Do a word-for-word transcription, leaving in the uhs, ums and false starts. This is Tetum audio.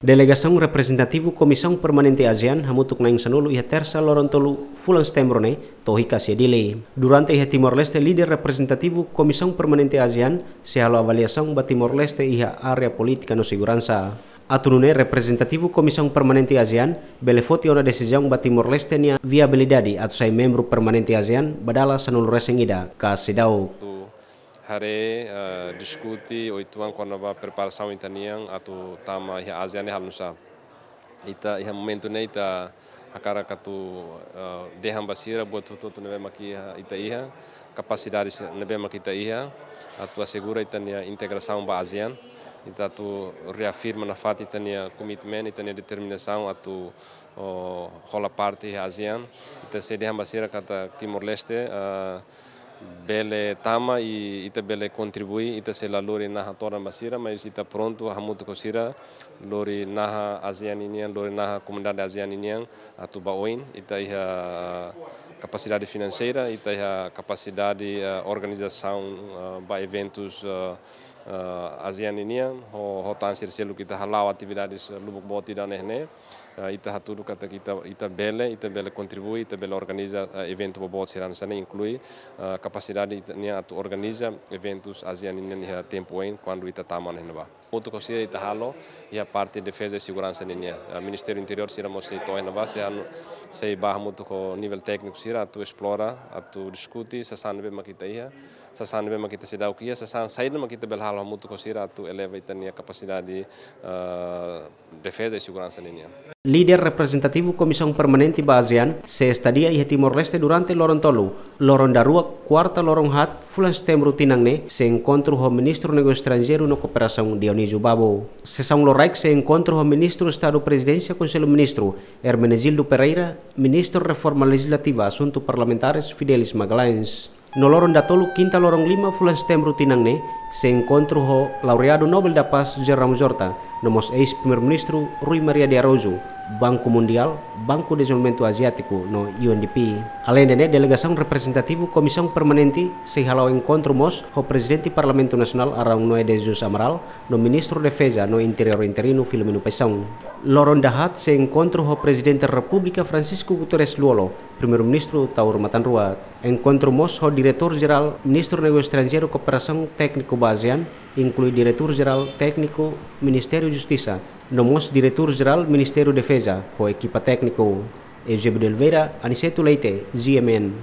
Delegasaun reprezentativu Komisaun Permanente ASEAN hamutuk na'in sanulu iha Tersa loron tolu fulan Setembru ne'e to'o hikas iha Dili. Durante iha Timor-Leste, líder reprezentativu Komisaun Permanente ASEAN sei halo avaliasaun ba Timor-Leste iha área polítika no seguransa. Atu nune'e reprezentativu Komisaun Permanente ASEAN bele foti ona desizaun ba Timor-Leste nia viabilidade atu sai membru permanente ASEAN ba dala sanulu resin ida ka seidauk. Atu haree, eh, diskute, ou entaun kona-ba preparasaun ita-nian atu tama iha ASEAN ne'e halo nu'usá. Ita iha momentu ne'e ita hakarak atu, eh, dehan ba sira buat hotu-hotu ne'ebé mak iha, ita iha, kapasidade se-, ne'ebé mak ita iha, atu asegura ita-nia integrasaun ba ASEAN, ita atu reafirma nafatin ita-nia komitmen, ita-nia determinasaun atu, oh, hola parte iha ASEAN. Ita sei dehan ba sira katak Timor-Leste, eh, bele tama i ita bele kontribui, ita sei la lori naha todan ba sira, mas ita prontu hamutuk ho sira, lori naha ASEAN ninian, lori naha komunidade ASEAN ninian atu ba oin. Ita iha kapasidade finanseira, ita iha kapasidade, eh, organizasaun, eh, ba eventus, eh, eh, ASEAN ninian, ho, ho tan sira seluk ita hala'o atividades, eh, lubuk boot ida ne'e ne'e. Eh, ita hatudu katak ita, ita bele, ita bele kontribui, ita bele organiza, eh, eventu boboot sira hanesan ne'e, inklui, eh, kapasidade ita-nian atu organiza eventus ASEAN ninian iha tempu oin kuandu ita tama ne'e ne'ebá. Hamutuk ho sira ita halo iha parte defeza i seguransa ninian. Eh, Ministériu Interiór sira mós sei to'o iha ne'ebá, sei anu-, sei bá hamutuk ho nivel tékniku sira atu esplora, atu diskute sasán ne'ebé mak ita iha, sasán ne'ebé mak ita seidauk iha, sasán saida mak ita bele halo hamutuk ho sira atu eleva ita-nia kapasidade, eh, defeza i seguransa ninian. Líder reprezentativu Komisaun Permanente ba ASEAN sei estadia iha Timor-Leste durante loron tolu, loron daruak, kuarta loron haat fulan Setembru tinan ne'e, sei enkontru ho Ministru Negósiu Estranjeiru no Kooperasaun Dionísio Babo. Sesaun loraik sei enkontru ho Ministru Estadu Prezidénsia Konsellu Ministru, Hermenegildo Pereira, Ministru Reforma Lejizlativa Asuntu Parlamentares, Fidelis Magalhães. No loron datoluk, kinta loron lima fulan Setembru tinan ne'e, sei enkontru ho Laureadu Nobel da Paz José Ramos Horta, no mós eis-Primeiru-Ministru Rui Maria de Araújo, Banku Mundiál, Banku Dezenvolvimentu Aziátiku no U N D P. Aleinde ne'e, delegasaun reprezentativu Komisaun Permanente sei hala'o enkontru mós ho Prezidente Parlamentu Nasionál Araun Noé de Jesus Amaral, no Ministru Defeza no Interiór interinu Filomeno Paixão. Loron dahaat sei enkontru ho Prezidente Repúblika Francisco Guterres Lú-Olo, Primeiru-Ministru Taur Matan Ruak. Enkontru mós ho Diretór Jerál Ministru Negósiu Estranjeiru Kooperasaun Tékniku ba ASEAN, inklui Diretór Jerál Tékniku Ministériu Justisa, no mós Diretór Jerál Ministériu Defeza, ho ekipa tékniku. Eusébio de Oliveira, Aniceto Leite, G M N.